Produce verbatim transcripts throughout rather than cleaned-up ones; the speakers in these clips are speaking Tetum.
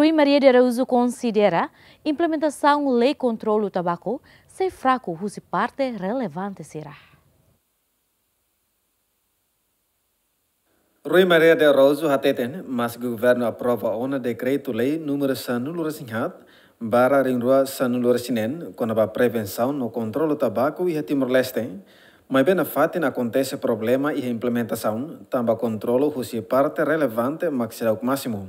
Rui Maria de Araújo konsidera implementasaun lei kontrolu tabaku sei fraku husi parte relevante sira. Rui Maria de Araújo hateten, maski governu aprova ona dekretu-lei númeru sanulu-resin-haat barra rihun rua sanulu-resin-neen, kona-ba prevensaun no kontrolu tabaku iha Timor-Leste, maibé nafatin akontese problema iha implementasaun, tanba kontrolu husi parte relevante mak seidauk másimu.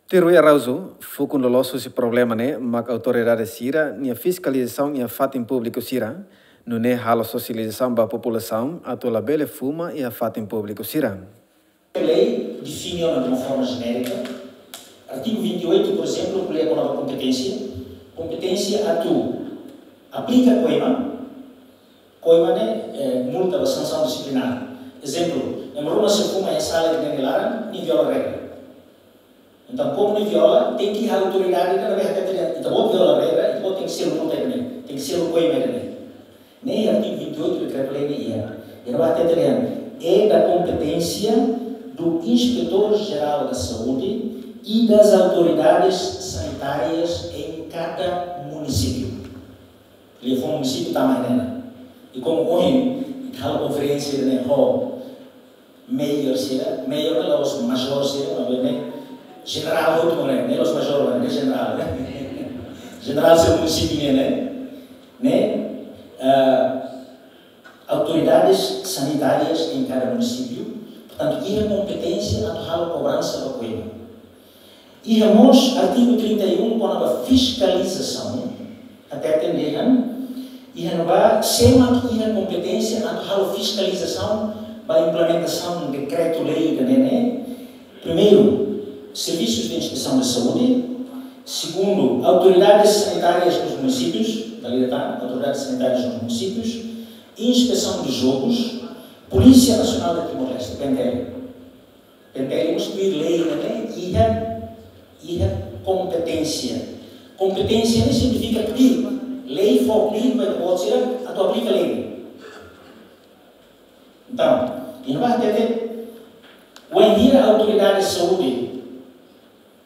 Tuir Rui Araújo, fukun loloos husi problema ne'e mak autoridade sira-nia fiskalizasaun iha fatin públiku sira, nune'e halo sosializasaun ba populasaun atu labele fuma iha fatin públiku sira. Lei define ona de uma forma genérica. Artigo vinte e oito, por exemplo, ko'alia kona-ba kompeténsia. Kompeténsia atu aplika koima, koima ne'e, eh, multa ba sansaun disiplinár. Ezemplu, ema ruma sei fuma iha sala ida-ne'e nia laran, nia viola regra. Entaun, komu nia viola, tenke iha autoridade ida ne'ebé hatete dehan, ita-boot viola regra, ita-boot tenke selu multa ida-ne'e, tenke selu koima ida-ne'e. Ne'e artigo vinte e oito dekretu-lei ne'e iha. Iha ne'ebá hatete dehan, é da competência do Inspetor-Geral da Saúde e das autoridades sanitárias em cada município. Lia fó munisípiu tama iha ne'e. I komu ohin, ita halo konferénsia ne'e ho mayor sira, mayor ne'e la'ós major sira, maibé ne'e jenerál hotu ne'e, ne'e la'ós major ne'e, ne'e jenerál ne'e. Jenerál sira munisípiu ne'e, ne'e, ne'e, eh, autoridades sanitárias em cada município, portantu, iha kompeténsia atu halo kobransa ba koima. Iha mós artigu trinta e um kona-ba fiskalizasaun, hateten dehan, iha ne'ebá sé mak iha kompeténsia atu halo fiskalizasaun ba implementasaun dekretu-lei ida-ne'e. Primeiru, serviços de inspeção de saúde. Segundu, autoridades sanitárias nos municípios, valida tá? Autoridades sanitárias nos municípios. Inspeção de jogos. Polícia Nacional de Timor-Leste, P N T L. P N T L mós tuir lei ne'e iha, iha kompeténsia. Kompeténsia ne'e signifika tuir lei fó tuir ba ita-boot sira atu aplika lei. Entaun, iha ne'ebá hatete, wainhira autoridade saúde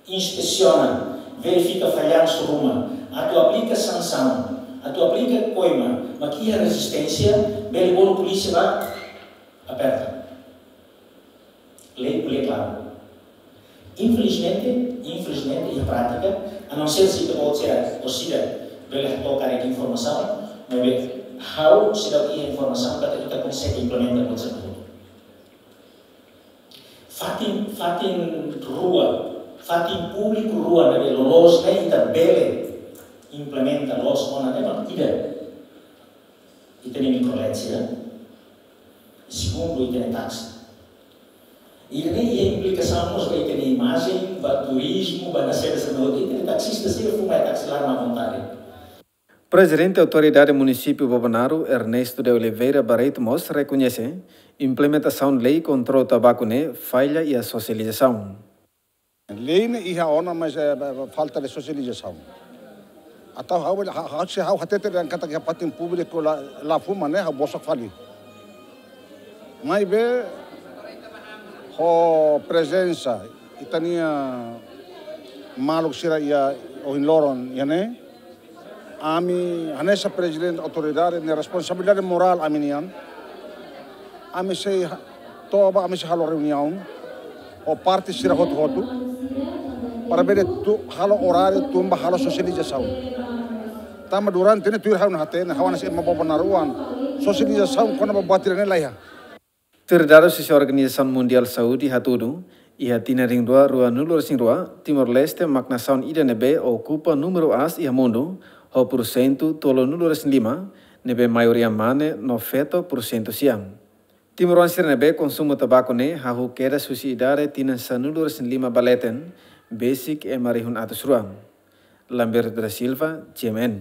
inspesiona, verifika fallansu ruma, atu aplika sansaun, atu aplika koima, mak iha rezisténsia, bele bolu polísia bá aperta. Lei ko'alia klaru. Infelizmente, infelizmente, iha prátika, a não ser se ita-boot sira, orsida, bele hato'o karik informasaun, maibé ha'u seidauk iha informasaun katak ita konsege implementa buat sira hotu. Fatin, fatin rua, fatin públiku rua ne'ebé loloos ne'e ita bele implementa loos ona ne'e mak ida, ita-nia mikrolet sira. Segundu, ita-nia taksi. Ida-ne'e iha implikasaun mós ba ita-nia imajen, ba turizmu, ba nasaun sira hotu, ita-nia taksista sira fuma iha taksi laran à vontade. Prezidente Autoridade Munisípiu Bobonaro, Ernesto de Oliveira Barreto mós rekoñese implementasaun lei kontrolu tabaku ne'e falla iha sosializasaun. Lei ne'e iha ona, mas, eh, falta de sosializasaun. Entaun ha'u, ha-, ha-, se ha'u hatete dehan katak iha fatin públiku la, la fuma ne'e, ha'u bosok fali. Maibé ho prezensa ita-nia maluk sira iha ohin loron iha ne'e, ami hanesan prezidente autoridade nia responsabilidade morál ami-nian. Ami sei ha-, toba, ami sei halo reuniaun ho parte sira hotu-hotu para bele tu-, halo oráriu tun ba halo sosializasaun. Tanba durante ne'e tuir ha'u-nia hatene, ha'u hanesan ema Bobonaroan, sosializasaun kona-ba buat ida-ne'e la iha. Tuir dadus husi Organizasaun Mundiál Saúde hatudu, iha tinan rihun rua ruanulu-resin-rua, Timor-Leste mak nasaun ida ne'ebé okupa númeru aas iha mundu, ho pursentu tolunulu-resin-lima, ne'ebé maioria mane no feto pursentu sia. Timoroan sira ne'ebé konsumu tabaku ne'e hahú kedas husi idade tinan sanulu-resin-lima ba leten, besik ema rihun atus rua. Lamberto da Silva, G M N.